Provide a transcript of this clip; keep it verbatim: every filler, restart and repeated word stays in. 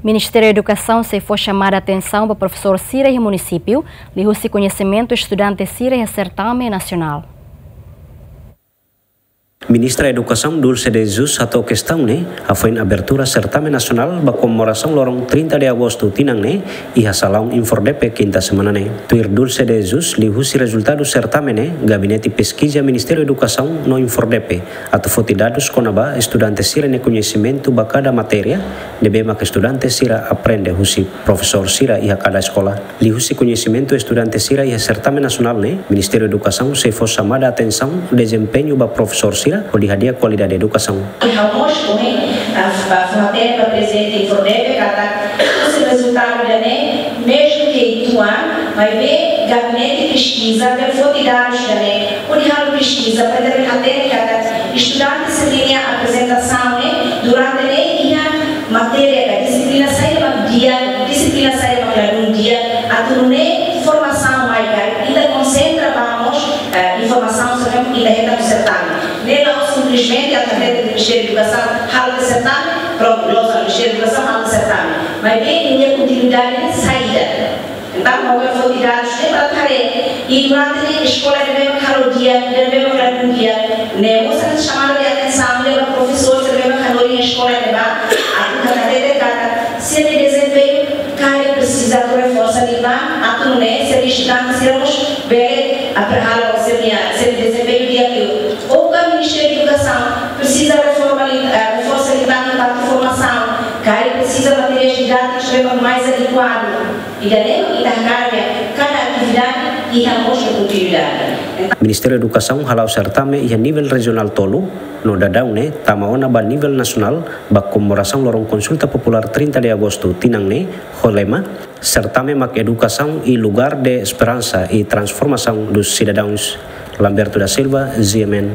Ministériu Edukasaun sei fó xamada atensaun ba profesór sira iha munisípiu, liuhusi koñesimentu estudante sira iha sertame nasionál. Ministra Edukasaun Dulce de Jesus hato'o kestaun ne'e hafoin abertura sertame nasionál ba komemorasaun loron trinta de agostu tinan ne'e iha salaun INFORDEPE kinta semana ne'e. Tuir Dulce de Jesus, liuhusi rezultadu sertame ne'e, Gabinete Peskiza Ministériu Edukasaun no INFORDEPE atu foti dadus kona-ba estudante sira-nia koñesimentu ba kada matéria ne'ebé mak estudante sira aprende husi profesór sira iha kada eskola. Liuhusi koñesimentu estudante sira iha sertame nasionál ne'e, Ministériu Edukasaun sei fó xamada atensaun dezempeñu ba profesór sira hodi hadi'a kualidade edukasaun. Iha mós ohin, ah, ba, ba prezidente INFORDEPE katak husi rezultadu ida-ne'e, mezmu ke uitoan, maibé gabinete peskiza bele foti dadus ida-ne'e, hodi halo peskiza para bele hatene katak estudante sira-nia aprezentasaun ne'e durante ne'e iha matéria ka dixiplina saida mak di'ak, dixiplina saida mak ladún di'ak, atu nune'e formasaun mai karik ita konsentra ba mós, eh, informasaun sira ne'ebé ita hetan husi sertame. Ne'e la'ós simplesmente atu hatete Ministériu Edukasaun halo tiha sertame, prontu, loos ona Ministériu Edukasaun halo tiha sertame. Maibé nia kontinuidade ne'e saida. Entaun, ha'u hakarak foti dadus ne'e para haree, i durante ne'e eskola ne'ebé mak halo di'ak, ne'ebé mak ladún di'ak, ne'e mós halo xamada de atensaun ba profesór sira ne'ebé mak hanorin eskola ne'ebá, atu hatete katak sira-nia dezempeñu karik presiza atu reforsa liután, atu nune'e sira-nia estudante sira mós bele aprezenta sira-nia, sira-nia dezempeñu di'ak liu. Ou ka Ministériu Edukasaun presiza reforma li-, eh, reforsa liután iha parte formasaun, karik presiza materiais didátikus ne'ebé mak mais adekuadu. Ida-ne'e ita hakarak kada atividade iha mós kontinuidade. Ministériu Edukasaun hala'o sertame iha nivel rejionál tolu, no daudaun ne'e tama ona ba nivel nasionál, ba komemorasaun loron konsulta populár trinta de agostu tinan ne'e, ho lema, Sertame mak edukasaun i lugar de esperansa i transformasaun dos cidadãos. Lamberto da Silva, G M N,